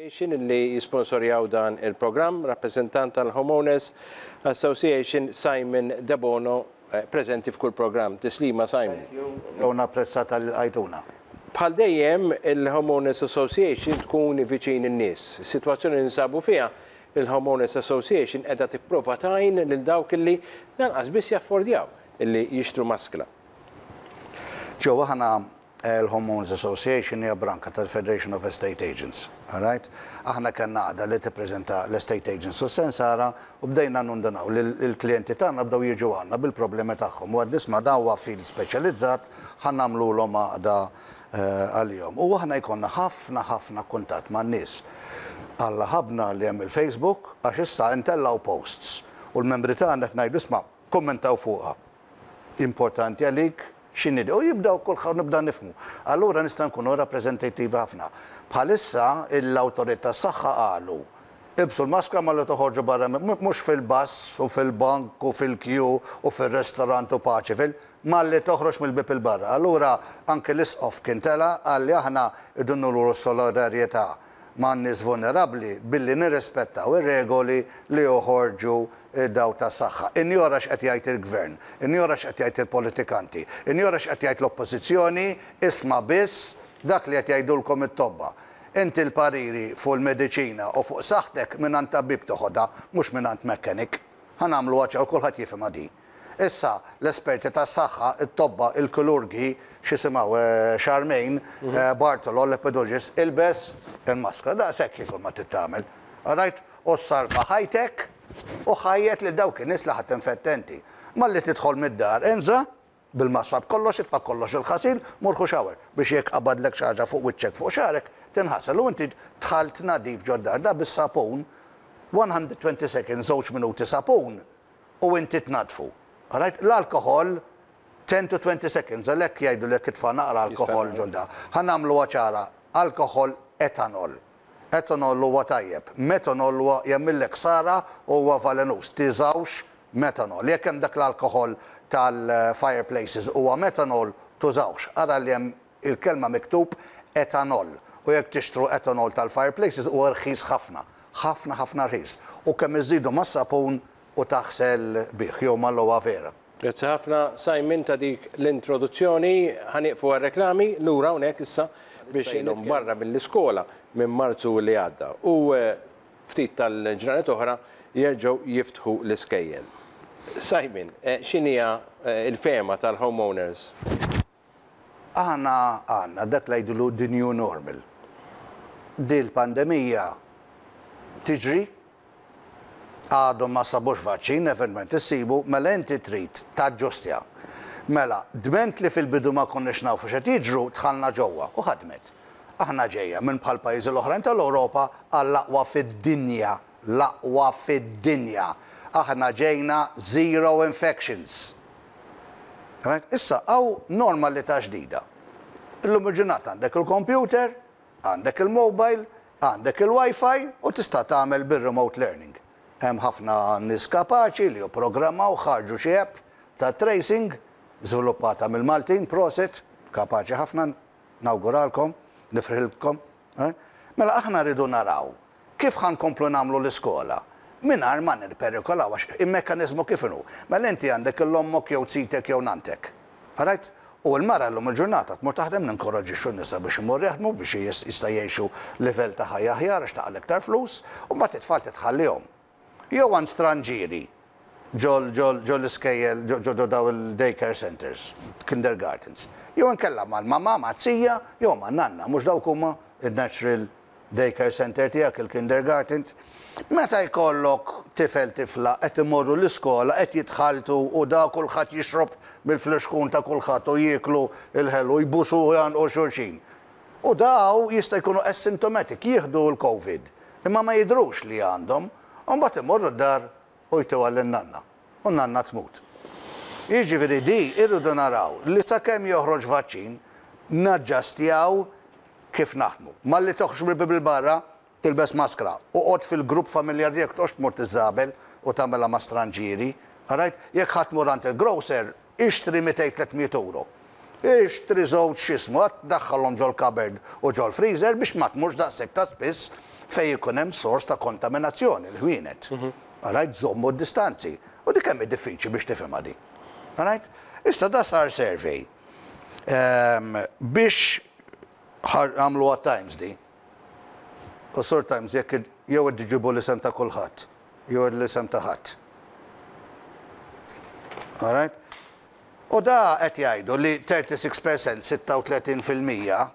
Association li jisponsorjaw dan il-programm, rappreżentant tal-Homeowners Association Simon Debono preżenti f'kull programm. Tislima Simon. U napprezza talli lqajtuna. Bħal dejjem, il-Homeowners Association tkun viċin in-nies. Is-sitwazzjoni li ninsabu fiha, il-Homeowners Association qiegħda tipprova tgħin lil dawk li lanqas biss jaffordjaw li jixtru maskla. Joe, aħna l-Homeowners Association hija branka tal-Federation of Estate Agents. Alright? Aħna kellna għaqda li tippreżenta l-estate agents u s-sensara u bdejna nundunaw li l-klijenti tagħna bdew jiġu għandna bil-problemi tagħhom. U għedna isma' dan huwa field speċjalizzat ħa nagħmlulhom għaqda għalihom. U aħna jkollna ħafna ħafna kuntatt man-nies. Alla ħabbna li hemm il-Facebook għax issa ntellgħu posts u l-membri tagħna qed ngħidu isma' kummentaw fuqha. Importanti għalik x'inhi u jibdew kulħadd nibda nifhmu. Allura nista' nkunu rappreżentattivi ħafna. Bħalissa l-awtorità tas-saħħa qalu ilbsu l-maskra malli toħorġu barra mhux fil-bus u fil-bank u fil-kju u fir-restaurant u paċi fil malli toħroġ mill-bieb 'il barra. Allura anke l-Isqof kien tela' qal li aħna rridu nuru s-solidarjetà man-nies vulnerabbli billi nirrispettaw ir-regoli li joħorġu dawk tas-saħħa. Injora x'qed jgħid il-Gvern, injora x'qed jgħid il-politikanti, injora x'qed jgħid l-Oppożizzjoni, isma' biss dak li qed jgħidulkom it-tobba. Inti l-pariri fuq il-mediċina u fuq saħħtek mingħand tabib toħodha, mhux mingħand mechanic. Ħa nagħmluha ċara u kulħadd jifhimha din. Issa, l-esperti tas-saħħa, it-tobba, il-kirurgi, x'jisimgħu, Charmaine, Bartolo, l-epidologist, ilbes il-maskra. Daqshekk hi kull ma trid tagħmel. Alright? U ssalva ħajtek u ħajjet lil dawk in-nies li ħa tinfetta inti. Malli tidħol mid-dar, inża' bil-maskra b'kollox, itfa' kollox il-ħasil, mur ħu shower biex jekk qabadlek xi ħaġa fuq wiċċek, fuq xagħrek, tinħasel u inti dħalt nadif ġod-dar. Da bis-sapun, 120 seconds, żewġ minuti sapun, u inti tnaddfu. Alright? L-alkoħol 10 to 20 seconds, għalhekk jgħidulek itfa' naqra alkoħol ġol da. Ħa nagħmluha ċara, alkoħol etanol. Etanol huwa tajjeb, metanol huwa jagħmillek ħsara u huwa valenuż. Tiżawx metanol. Jekk hemm dak l-alkoħol tal-fireplaces huwa metanol, tużawx. Ara li hemm il-kelma miktub etanol. U jekk tixtru etanol tal-fireplaces huwa rħis ħafna. Ħafna ħafna rħis. U kemm iżżidu mas-sapun u taħsel bih jew mal-aloe vera. Grazzi ħafna Simon ta' dik l-introduzzjoni. Ħa nieqfu għar-reklami, lura hawnhekk issa biex ilhom barra mill-iskola minn Marzu li għadda u ftit tal-ġranet oħra jerġgħu jiftħu l-iskejjel. Simon, x'inhija l-fehma tal-homeowners? Aħna għandna dak li jgħidulu the new normal. Dil-pandemija tiġri, għadhom ma sabux vaċċin, eventwalment issibu, mela inti trid taġġustja. Mela, dment li fil-bidu ma konniex nafu x'qed jiġru, dħalna ġewwa u ħadmet. Aħna ġejja minn bħal pajjiżi l-oħrajn tal-Ewropa għall-aqwa fid-dinja, l-aqwa fid-dinja. Aħna ġejna zero infections. Right? Issa hawn normalità ġdida. Illum il-ġurnata għandek il-computer, għandek il-mobile, għandek il-Wi-Fi u tista' tagħmel bir-remote learning. Hemm ħafna nies kapaċi li jipprogrammaw ħarġu xi app ta' tracing żviluppata mill-Maltin, prosit, kapaċi ħafna, nawguralkom, nifrħilkom. Mela aħna rridu naraw Kif ħa nkomplu nagħmlu l-iskola mingħajr ma nirperikolaw għax il-mekkaniżmu kif inhu? Mela inti għandek 'l ommok jew zitek jew nanntek. Alright? U l-mara llum il-ġurnata tmur taħdem ninkoraġġixxu n-nisa biex imorru jaħdmu biex jista' jgħixu livell ta' ħajja aħjar għax taqla' iktar flus u mbagħad it-tfal titħallihom. Jew għand stranġieri ġol ġol ġol l-iskejjel ġo ġo daw il-day care centers, kindergartens. Jew inkella mal-mamà, maz-zija jew man-nanna, mhux dawk huma n-natural day care centre tiegħek, il-kindergarten. Meta jkollok tifel tifla qed imorru l-iskola qed jitħalltu u da kulħadd jixrob mill-flixkun ta' kulħadd u jieklu l-ħelu jbusu u jgħannqu xulxin. U daw jista' jkunu asymptomatic, jieħdu l-Covid, imma ma jidhrux li għandhom, u mbagħad imorru d-dar u jtuha lin-nanna u n-nanna tmut. Jiġifieri di irridu naraw li sakemm joħroġ vaċċin naġġastjaw kif naħdmu. Malli toħroġ mill-bieb 'il barra, tilbes maskra. Oqgħod fil-grupp familjari tiegħek, toqgħodx tmur tiżżabel u tagħmilha ma' stranġieri. Alright? Jekk ħa tmur għand il-grocer, ixtri 200, 300 ewro. Ixtri żewġ x'jismu, daħħalhom ġol-cupboard u ġol-freezer biex ma tmurx daqshekk ta' spiss fejn ikun hemm sors ta' kontaminazzjoni, l-ħwienet. Alright, żommu d-distanzi. U dik kemm hi diffiċli biex tifhimha di. Alright? Issa da sar survey biex għamluha Times di. U Sur Times jekk jew qed iġibu l-isem ta' kulħadd, jew l-isem ta' ħadd. Alright? U da qed jgħidu li 36%, 36%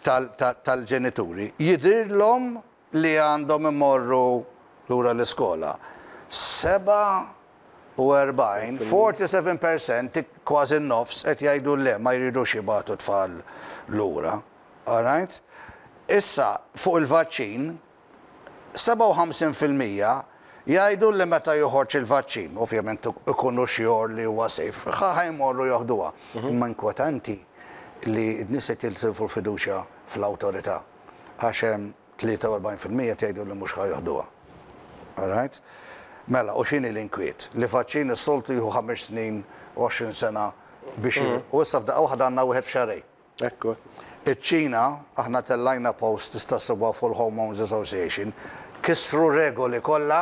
tal-ġenituri jidhirlhom li għandhom imorru lura l-iskola. 47, 47%, kważi n-nofs, qed jgħidu le, ma jridux jibagħtu tfal lura. Alright? Issa, fuq il-vaċċin, 57% jgħidu li meta joħorġ il-vaċċin, ovvjament ikunu sure li huwa safe, ħa jmorru joħduha. Imma inkwetanti li n-nies qed jitilfu l-fiduċja fl-awtorità għax hemm 43% jgħidu li mhux ħa joħduha. Alright? Mela, u x'inhi l-inkwiet? Li vaċċin is-soltu jieħu 5 snin, 20 sena biex u issa f'daqqa waħda għandna wieħed f'xahrejn. Ekku. Iċ-Ċina, aħna tellajna post tista' ssibha fuq il-Homeowners Association, kisru regoli kollha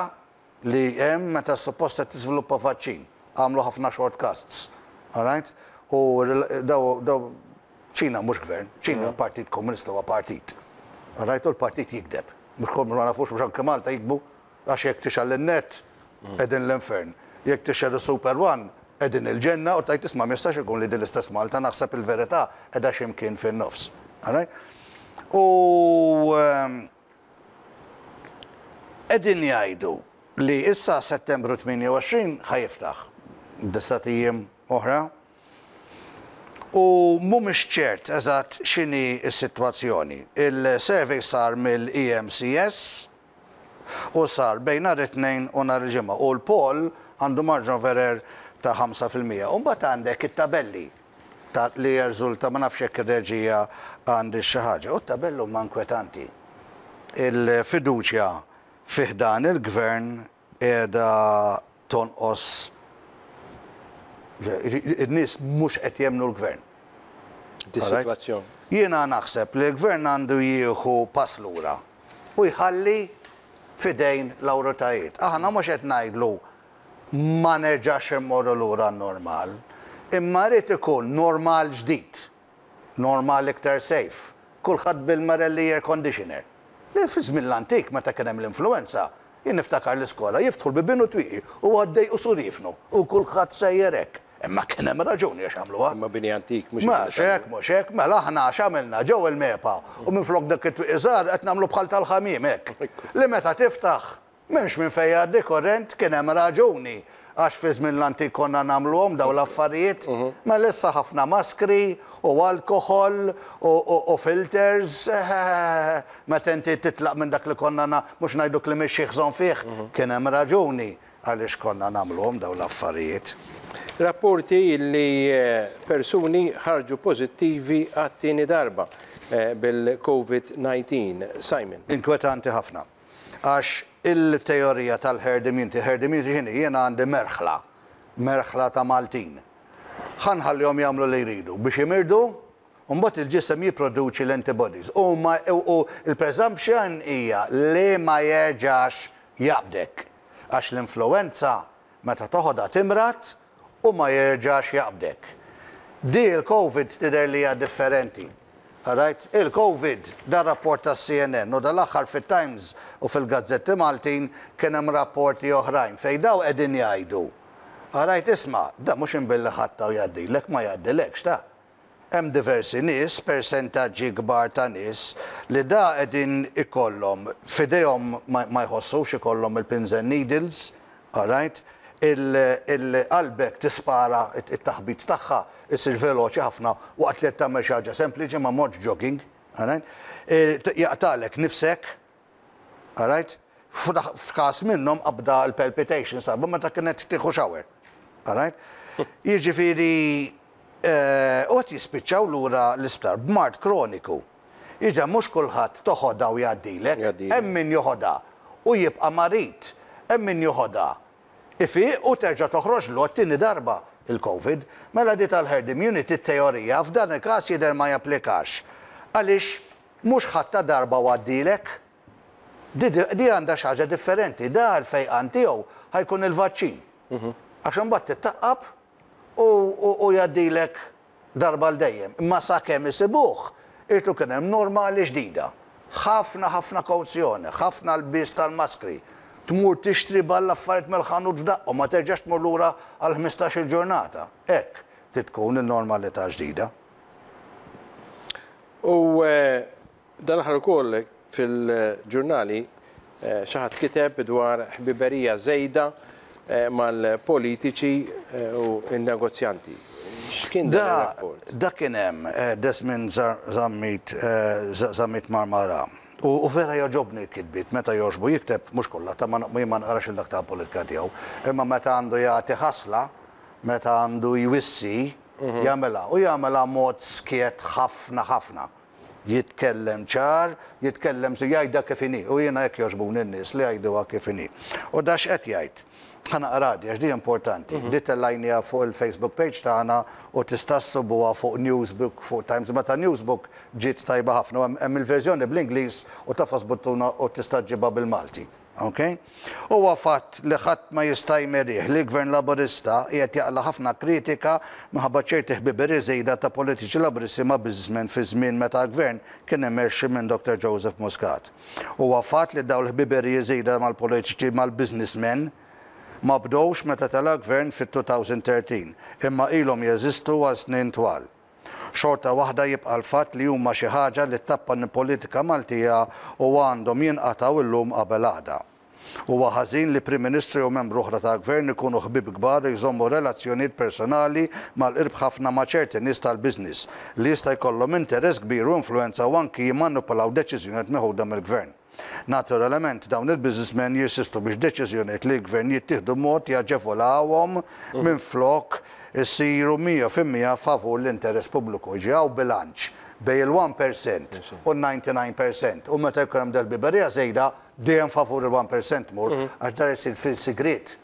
li hemm meta suppost qed tiżviluppa vaċċin. Għamlu ħafna shortcuts. Alright? U daw daw Ċina mhux gvern, Ċina Partit Komunista huwa partit. Alright? U l-partit jikdeb. Mhux kol ma nafux mhux anke Malta jikdbu għax jekk tixgħel in-net qegħdin l-infern. Jekk tixgħel is-Super One qegħdin il-ġenna u tgħid isma' ma jistax ikun li din l-istess Malta naħseb il-verità qiegħda xi mkien fin-nofs. Alright? U qegħdin jgħidu li issa Settembru 28 ħa jiftaħ disat ijiem oħra u mhumiex ċert eżatt x'inhi s-sitwazzjoni. Il-survey sar mill-EMCS u sar bejn nhar it-Tnejn u nhar il-Ġimgħa u l-poll għandu margin of error ta' 5%. U mbagħad għandek it-tabelli ta' li jirriżulta ma nafx jekk ir-reġija għandhiex xi ħaġa. U t-tabelli huma inkwetanti. Il-fiduċja fi ħdan il-gvern qiegħda tonqos in-nies mhux qed jemmnu l-gvern. Dis-sitwazzjoni. Jiena naħseb li l-gvern għandu jieħu pass lura u jħalli f'idejn l-awritajiet. Aħna mhux qed ngħidlu ma nerġax immorru lura għan-normal, imma jrid ikun normal ġdid, normal iktar safe, kulħadd bil-Marelli air conditioner. Li fi żmien l-antik meta kien hemm l-influenza, jien niftakar l-iskola jiftħu l-bibien u twieqi u għaddej u surifnu u kulħadd sejjer hekk. Imma kien hemm raġuni għax għamluha. Imma bini antik mhux. Mhux hekk, mhux hekk, mela aħna x'għamilna ġew il-MEPA u minflok dak it-twieqi żgħar qed nagħmlu bħal tal-ħamiem hekk. Li meta tiftaħ m'hemmx minn fejn jgħaddi korrent, kien hemm raġuni għax fi żmien l-antik konna nagħmluhom dawn l-affarijiet. Mela issa ħafna maskri u alkoħol u filters, meta inti titlaq minn dak li konna mhux ngħiduk li mhix xi bżonn fih, kien hemm raġuni għaliex konna nagħmluhom dawn l-affarijiet. Rapporti li persuni ħarġu pożittivi għat-tieni darba bil-COVID-19. Simon. Inkwetanti ħafna. Għax il-teorija tal-herd immunity, herd immunity x'inhi? Jiena għandi merħla, merħla ta' Maltin. Ħa nħallihom jagħmlu li jridu biex imirdu, u mbagħad il-ġisem jipproduċi l-antibodies. U ma u l-presumption hija li ma jerġax jaqbdek. Għax l-influenza meta toħodha timrad u ma jerġax jaqbdek. Di l-Covid tidher li hija differenti. Alright? Il-Covid, dan rapport tas-CNN u dal-aħħar fit-Times u fil-gazzetti Maltin kien hemm rapporti oħrajn fejn daw qegħdin jgħidu. Alright, isma', da mhux imbilli ħadta u jgħaddilek, ma jgħaddilekx ta. Hemm diversi nies, persentaġġi kbar ta' nies li da qegħdin ikollhom f'idejhom ma jħossux ikollhom il-pins and needles, alright, il-qalbek tispara it-taħbit tagħha isir veloċi ħafna waqt li qed tagħmel xi ħaġa sempliċi ma mortx jogging, alright, jaqtagħlek nifsek, alright, f'każ minnhom qabda l-palpitation sabu meta kienet tieħu shower, alright. Jiġifieri u qed jispiċċaw lura l-isptar b'mard kroniku. Iġa mhux kulħadd toħodha u jgħaddilek, hemm min joħodha u jibqa' marid, hemm min joħodha ifiq u terġa' toħroġlu għat-tieni darba il-Covid. Mela di tal-herd immunity t-teorija f'dan il-każ jidher ma japplikax. Għaliex? Mhux ħadtha darba u għaddielek. Di di għandha xi ħaġa differenti. Da l-fejqan tiegħu ħa jkun il-vaċċin. Għax imbagħad tittaqqab u u jgħaddilek darba għal dejjem. Imma sakemm isibuh, irid ikun hemm normali ġdida. Ħafna ħafna kawzjoni, ħafna lbies tal-maskri. Tmur tixtri balla affarijiet mill-ħanut f'daqqa u ma terġax tmur lura għal 15-il ġurnata. Hekk trid tkun in-normalità ġdida. U dan l-aħħar ukoll fil-ġurnali xi ħadd kiteb dwar ħbiberija żejda mal-politiċi u n-negozjanti. X'kien dan ir-rapport? Da kien hemm Desmond Zammit Zammit Marmara. U vera jogħġobni l-kitbiet meta jogħġbu jikteb, mhux kollha, ta' jien ma naqrax il dak ta' politika tiegħu, imma meta għandu jagħti ħasla, meta għandu jwissi, jagħmilha u jagħmilha mod skjett ħafna ħafna. Jitkellem ċar, jitkellem si jgħidha kif inhi u jiena hekk jogħġbuni n-nies li jgħiduha kif inhi. U da x'qed jgħid? Ħa naqra di għax di importanti. Di tellajniha fuq il-Facebook page tagħna u tista' ssibuha fuq Newsbook, fuq Times, imma ta' Newsbook ġiet tajba ħafna u hemm il-verżjoni bl-Ingliż u tagħfas buttuna u tista' ġġibha bil-Malti. Ok? Huwa fatt li ħadd ma jista' jmerih li l-Gvern Laburista qiegħed jaqla' ħafna kritika minħabba ċerti ħbiberiji żejda ta' politiċi Laburisti ma' businessmen fi żmien meta l-Gvern kien immexxi minn Dr Joseph Muscat. Huwa fatt li dawn l-ħbiberiji żejda mal-politiċi mal-businessmen ma bdewx meta tela' l-Gvern fit-2013 imma ilhom jeżistu għal snin twal. Xorta waħda jibqa' l-fatt li huma xi ħaġa li ttappan il-politika Maltija u għandhom jinqatgħu illum qabel għada. Huwa ħażin li Prim Ministru jew membru oħra tal-Gvern ikunu ħbieb kbar u jżommu relazzjonijiet personali mal-qrib ħafna ma' ċerti nies tal-business li jista' jkollhom interess kbir u influwenza u anki jimmanipulaw deċiżjonijiet meħuda mill-Gvern. Naturalament, dawn il-businessmen jirsistu biex deċiżjonijiet li l-Gvern jittieħdu b'mod jaġevolawhom minflok isiru 100% favur l-interess pubbliku. Jiġi hawn bilanċ bejn il-1% u n-99% u meta jkun hemm dal-biberija żejda dejjem favur il-1% tmur għax dar isir fil-sigriet.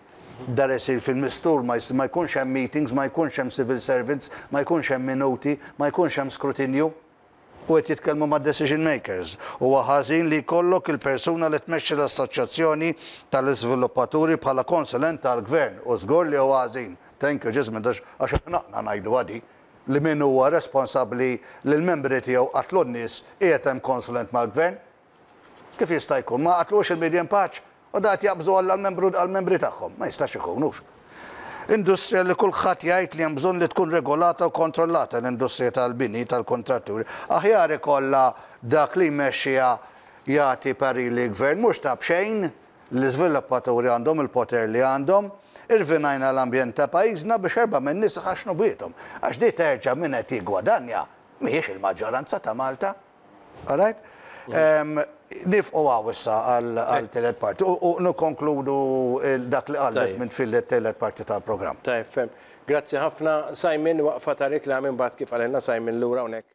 Dar isir fil-mistur, ma jkunx hemm meetings, ma jkunx hemm civil servants, ma jkunx hemm minuti, ma jkunx hemm skrutinju. U qed jitkellmu mad-decision makers. Huwa ħażin li jkollok il-persuna li tmexxi l-assoċjazzjoni tal-iżviluppaturi bħala konsulent tal-Gvern u żgur li huwa ħażin. Thank you Jesmond għax għax ħnaqna ngħiduha di li min huwa responsabbli li l-membri tiegħu qatlu n-nies qiegħed hemm konsulent mal-Gvern. Kif jista' jkun? Ma qatluhx il-Miriam Pace? U da qed jaqbżu għall-membru għall-membri tagħhom. Ma jistax ikun, hux? Industrija li kulħadd jgħid li hemm bżonn li tkun regolata u kontrollata l-industrija tal-bini tal-kontratturi. Aħjar ikollha dak li jmexxiha jagħti parir lill-gvern mhux ta' b'xejn l-iżviluppaturi għandhom il-poter li għandhom. Irvinajna l-ambjent ta' pajjiżna biex erbgħa min-nies iħaxxnu bwiethom. Għax di terġa' min qed jiggwadanja mhijiex il-maġġoranza ta' Malta. All right? Nifqu għaw issa għal telet parti u nikonkludu dak li qal Desmond fil-telet parti tal-programm. Tajjeb, fhem. Grazzi ħafna Simon, waqfa ta' reklami mbagħad kif qalilna Simon lura hawnhekk.